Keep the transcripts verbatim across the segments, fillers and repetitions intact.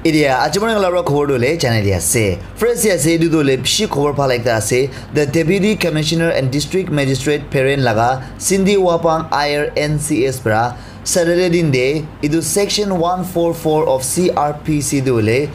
Etia aji mane kala para khobor tu le janai di ase. First te ase, etu tu le bishi khobor bhal ekta ase. The Deputy Commissioner and District Magistrate Peren laga Cindy Wapang I R N C S para Saturday din de etu section one four four of C R P C tu le,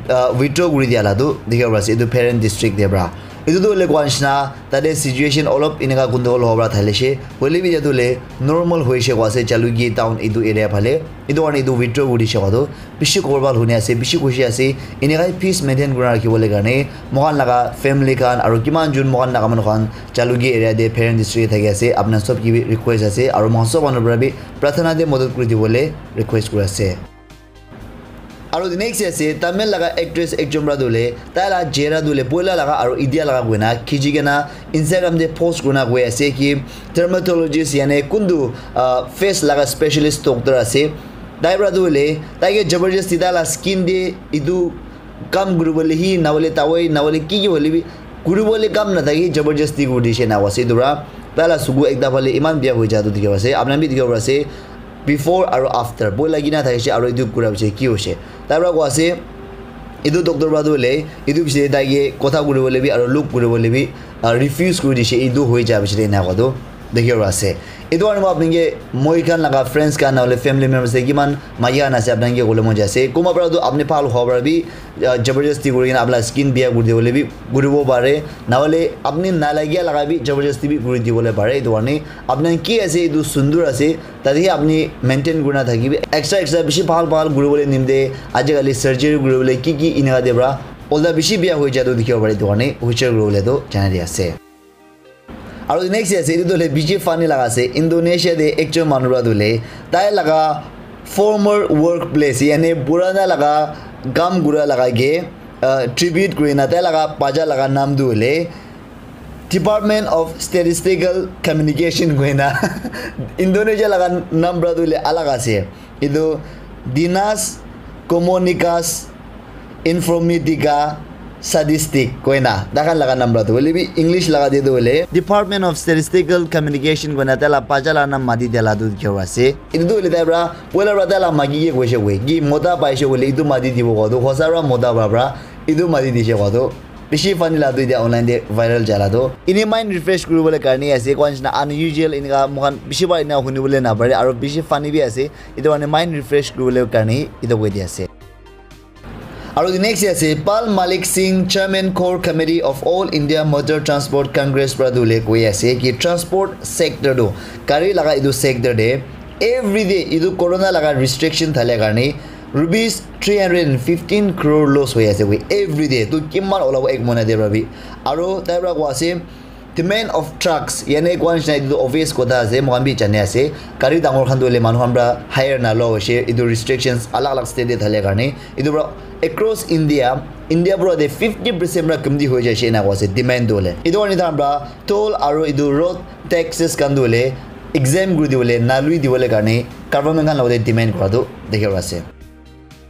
uh, withdraw kuri dia la tu dikhi ase etu Peren district de para. Etu tu le koi nishina tate situation olop eneka gundogol hobo para thalishe, hoile bi etu le normal hoishe koi ase Jalukie town etu area phale. Etu karne etu withdraw kuri dishe koi tu bishi khobor bhal huni ase, bishi khushi ase. Eneka peace maintain kuri rakhi bole karne moikhan laga family khan aru kiman jun moikhan laga manu khan Jalukie area te Peren district te thaki ase, apna sob ke bi request ase aru moikhan sob manu para bi prarthana te madad kuri dibole request kuri ase. Aru the next ase Tamil laga actress ekjon para tu le tai la chehra tu le poila laga aru etia laga koina khichi kena Instagram te post kurina koi ase ki dermatologist yani kuntu, ah, face laga specialist doctor ase. Tai para tu le tai ke jabardasti tai la skin te etu kam kuri bole hi na bole tawai na bole ki ki hoile bi kuri bole kam na thaki jabardasti kuri dishe na ase etu para. Tai la suku ekta phale eman bia hoi ja tu dikhi ase. Apna bi dikhi ase before aru after. Boi lagi na thakishe aru etu kura piche ki hoishe. Tai para koi ase, etu doctor para tu hoile, etu piche tai ke kotha kuri bole bi aru look kuri bole bi, ah, refuse kuri dishe. Etu hoi ja piche ena koi tu dikhi ase. Etu karne moi apni ke, moi khan laga friends khan na hoile family members te kiman maki khan ase apni ke kole mon jai ase. Kunba para tu apni bhal howa para bi, ah, jabardasti kuri kena apna skin bia kuri dibole bi kuri bo pare. Na hoile apni na lagia laga bi jabardasti bi kuri dibole pare. Etu karne apni ki ase etu sundur ase. Tate hi apni maintain kurina thakibi. Extra, extra bishi bhal, bhal kuribole nimite ajikali surgery kuribole ki ki eneka te para olta bishi bia hoi ja tu dikhibo pare, etu karne hoshiar kuribole tu janai di ase. Aru next ase, etu tu hoile bishi funny laga ase. Indonesia te ekjon manu para tu hoile tai laga former workplace, yani purana laga kam kura laga ke, uh, tribute kurina tai laga bacha laga nam tu hoile Department of Statistical Communication koina Indonesia laga nam para tu hoile alag ase. Etu Dinas Komunikasi Informatika Statistik koina takhan laga nam para tu hoile bi English laga te tu hoile Department of Statistical Communication koina tai la bacha la nam mati dia la tu dikhibo ase. Etu tu hoile tai para poila para tai la maki ke koise koi ki mota paise koile etu mati dibo koa tu hosa para mota para para etu mati dise koa tu. Bishi funny la tu etia online te viral jala tu. Ene mind refresh kuribole karne ase, koa nishina unusual enika moikhan bishi bar enika hunibole napare, aro bishi funny bi ase. Etu karne mind refresh kuribole karne etu koi di ase. Aro the next ase, Pal Malik Singh, Chairman Core Committee of All India Motor Transport Congress para tu le koi ase ki transport sector tu, gari laga etu sector te every day etu corona laga restriction thale karne rupees three hundred and fifteen crore loss hoi ase koi every day. Tu kiman olabo ek mohina te para bi. Aro tai para koi ase, demand of trucks, yane koi nishina etu tu obvious kotha ase, moikhan bi jani ase. Gari dangor khan tu hoile manu khan para hire na loa hoise, etu restrictions alag alag state te thale karne. Etu para across India, India para de fifty percent para kamti hoi jaise ena koi ase demand tu hoile. Etu karne tai khan para toll aro etu road taxes khan tu hoile exempt kuri dibole, na lui dibole karne government khan logote demand kura tu dikhibo ase.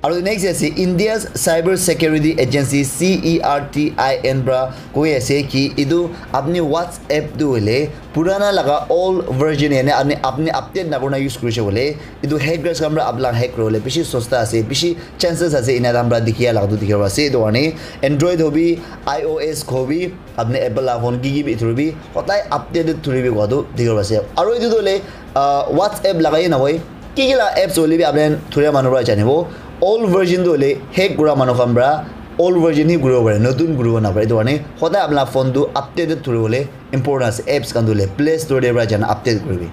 Aro next ase India's Cyber Security Agency, C E R T I N para koi ase ki etu apni WhatsApp tu hoile purana laga old version, yane apni, apni update na kurina use kurise bole etu hackers khan para apni laga hack kuribole bishi sosta ase, bishi chances ase ena tai khan para dikhia laga tu dikhibo ase. Etu karne Android hobi, I O S hobi, apni Apple la phone ki ki bi thuri bi hodai updated thuri bi koi tu dikhibo ase. Aro etu tu hoile, ah, WhatsApp laga he nahoi, ki ki la apps hoile bi apni khan thuria manu para janibo. Old version tu hoile hack kura manu khan para old version hi kuribo pare, notun kuribo napare. Etu karne hodai apni la phone tu updated thuribole important ase. Apps khan tu hoile Play Store te para jana update kuribi.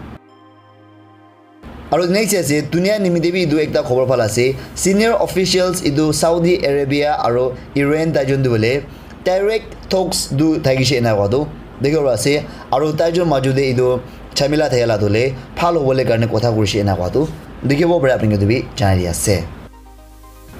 Aro next ase, dunia nimite bi etu ekta khobor bhal ase. Senior officials etu Saudi Arabia aro Iran tai jun tu hoile direct talks tu thakishe ena koi tu dikhibo ase. Aro tai jun maju te etu jhamela thakela tu hoile bhal hobole karne kotha kurishe ena koi tu dikhibo pare, apni khan etu bi janai di ase.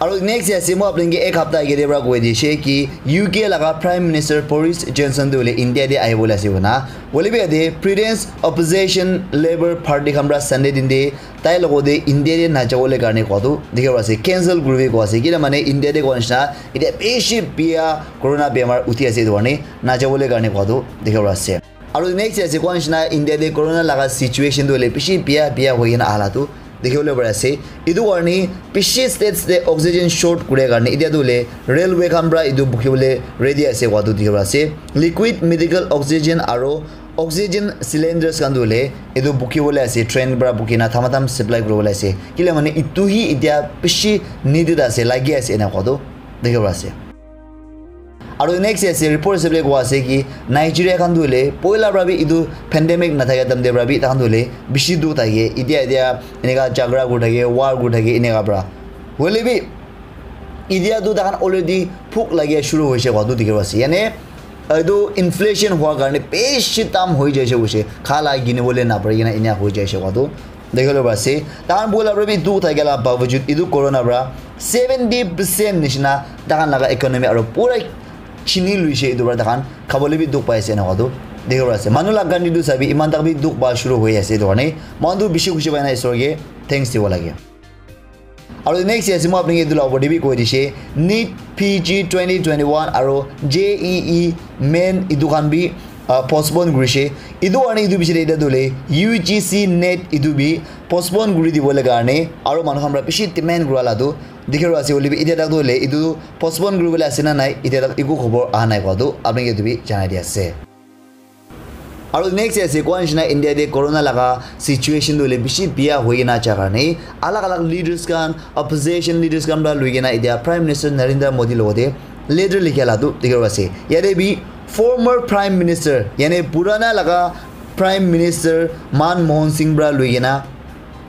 Aro next ase, moi apni ke ek hapta age te para koi dishe ki U K laga Prime Minister Boris Johnson tu hoile India te ahi bole ase koina. Hoile bi yate Britain's opposition Labour Party khan para Sunday din te tai logote India te na jabole karne koi tu dikhibo ase, cancel kuribi koi ase. Kile mane India te koi nishina etia bishi bia corona bemar uthi ase, etu karne na jabole karne koi tu dikhibo ase. Aro next ase, koi nishina India te corona laga situation tu hoile bishi bia, bia hoi kena aha la tu Dikhi bole pari ase. Etu karne bishi states te oxygen short kure karne etia tu hoile railway khan para etu bukhi bole ready ase koa tu dikhi pai ase. Liquid medical oxygen aro oxygen cylinders khan tu hoile etu bukhi bole ase, train para bukhi na thamatham supply kuri bole ase. Kile mane etu hi etia bishi needed ase, lagi ase ena koa tu dikhi pai ase. Aro next ase, report ase bole koa ase ki Nigeria khan tu hoile poila para bi etu pandemic na thaka time te para bi takhan tu hoile bishi dukh thake. Etia etia eneka jhagara kuri thake, war kuri thake eneka para. Hoile bi etia tu takhan already bhuk lagia shuru hoise koa tu dikhi pai ase. Yane etu inflation hua karne bishi dam hoi jaise, hoise kha la kini bole na pari kena enia hoi jaise koa tu dikhi bole pari ase. Takhan poila para bi dukh thaka la bawajud etu corona para seventy percent nishina takhan laga economy aro pura chini luise. Etu para takhan khabole bi dukh pai ase ena koa tu dikhi pai ase. Manu la country tu sabi iman tak bi dukh pa shuru hoi ase. Etu karne mohan tu bishi khushi pai na Isor ke thanks dibo lage. Aro next ase, moi apni ke etu la opor te bi koi dishe, NEET P G twenty twenty-one aro J E E main etu khan bi, ah, postpone kurishe. Etu karne etu bishi de etia tu hoile U G C NET etu bi postpone kuri dibole karne aro manu khan para bishi demand kura la tu dikhi pai ase. Hoile bi etia tak tu hoile etu postpone kuri bole ase na nai, etia tak eku khobor aha nai koa tu apni ke etu bi janai di ase. Aro next ase, koa nishina India te corona laga situation tu hoile bishi biya hoi kena ja karne alag alag leaders khan, opposition leaders khan para lui kena etia Prime Minister Narendra Modi logote letter likha la tu dikhi pai ase. Yate bi former Prime Minister, yane purana laga Prime Minister Manmohan Singh para lui kena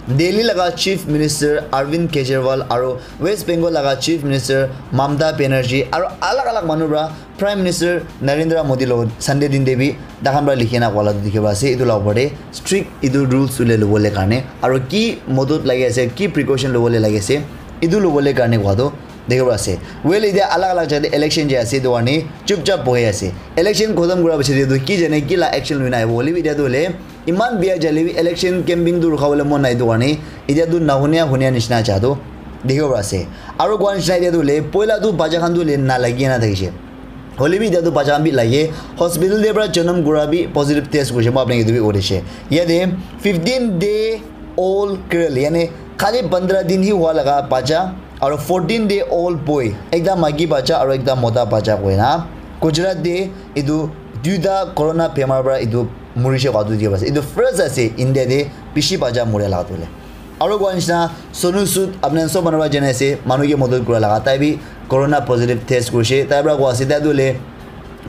Delhi laga Chief Minister Arvind Kejriwal aro West Bengal laga Chief Minister Mamta Banerjee aro alag alag manu para Prime Minister Narendra Modi logot Sunday din te bi takhan para likhi na koa la tu dikhi pai ase. Etu la opor te strict etu rules ule lobole karne aro ki modot lagi ase, ki precaution lobole lagi ase, etu lobole karne koa tu dikhi pai ase. Well, etia alag alag jaga te election jai ase, etu karne chupchap bohi ase. Election khotom kura piche te tu ki jane ki la action lui na ahibo. Hoile bi etia tu hoile iman biya jale bi election campaign tu rukha bole mon nai etu karne etia tu nahunia hunia nishina ja tu dikhi pai ase. Aro koa nishina etia tu hoile poila tu bacha khan tu hoile na lagi na thakishe. Hoile bi etia tu bacha khan bi lage, hospital te para janam kura bi positive test kurishe, moi apni ke etu bi koi dishe. Yate fifteen day old girl, yane khali pandra din hi hua laga bacha, aro fourteen day old boy, ekta maiki bacha aro ekta mota bacha koi na Gujarat te etu duita corona bemar para etu murishe koa tu dikhi pai ase. Etu first ase India te bishi bacha muria laga tu hoile. Aro koa nishina Sonu Sood, apni khan sob manu para jane ase, manu ke modot kura laga, tai bi corona positive test kurishe. Tai para koa ase tai tu hoile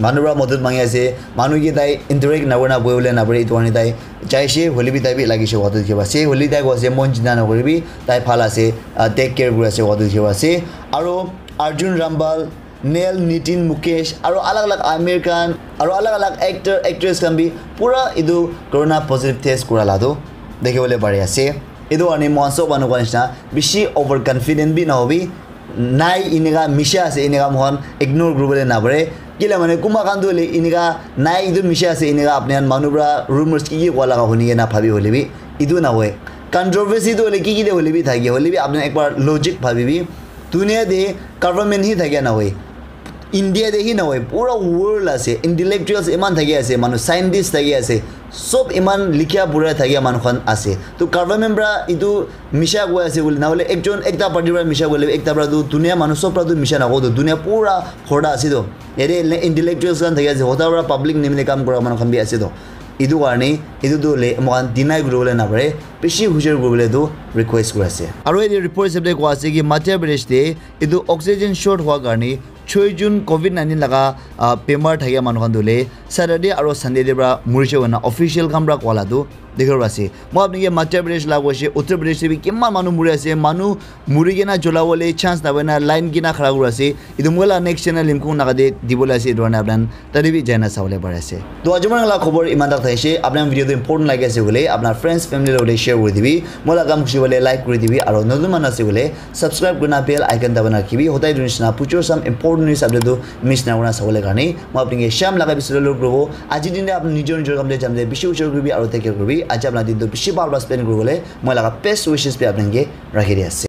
manu para modot mangi ase, manu ke tai interact na kurina bohi bole na pare, etu karne tai jaishe, hoile bi tai bi lagishe koa tu dikhi pai ase. Hoile tai koa ase mon chinta na kuribi, tai bhal ase, ah, take care kuri ase koa tu dikhi pai ase. Aro Arjun Rambal, Neil, Nitin, Mukesh, aro alag alag Aamir Khan, aro alag alag actor, actress khan bi pura etu corona positive test kura la tu dikhi bole pari ase. Etu karne moikhan sob manu khan nishina bishi over confident bi nahobi, nai eneka misha ase eneka moikhan ignore kuri bole na pare. Kile mane kunba khan tu hoile eneka nai etu misha ase eneka apni khan manu para rumors ki ki koa laga huni kena bhabi hoile bi etu na hoi. Controversy tu hoile ki ki de hoile bi thake, hoile bi apni khan ekbar logic bhabi bi. Dunia te government hi thakia nahoi, India te hi nahoi, pura world ase, intellectuals iman thakia ase, manu scientist thakia ase, sob iman likhia pura thakia manu khan ase. To government para etu misha koi ase bole, nahole ekjon ekta party para misha koile, ekta para tu dunia manu sob para tu misha nakobo, to dunia pura horda ase to. Yate le intellectuals khan thakia ase, hota para public nimite kam kura manu khan bi ase to. Etu karne etu tu le moikhan deny kuri bole napare, bishi hujur kuri bole tu request kuri ase. Aro yate report hisab te koi ase ki Madhya Pradesh te etu oxygen short hua karne choi jon covid nineteen laga, ah, bemar thakia manu khan tu hoile Saturday aro Sunday te para murishe koina official khan para koa la tu dikhi bo ase. Moi apni ke Madhya Pradesh la koise, Uttar Pradesh te bi kiman manu muri ase, manu muri kena jola bole chance na paina line kena khara kuri ase. Etu moi la next channel Limkung Naga te dibole ase, etu karne apni khan tate bi jaina sabole pari ase. To aji moi la khobor iman tak thakishi, apni khan video tu important lagi ase koile apni friends family logote share kuri dibi, moi la kam khushi bole like kuri dibi, aro notun manu ase koile subscribe kurina bell icon dabana rakhibi, hodai etu nishina future some important news update tu miss na kurina sabole karne. Moi apni ke sham laga bisalo log robo, aji din te apni nijor nijor kam te jam te bishi ujor kuribi aro take care kuribi, aji apni din tu bishi bhal bhal spend kuribole moi laga best wishes bi apni ke rakhi di ase.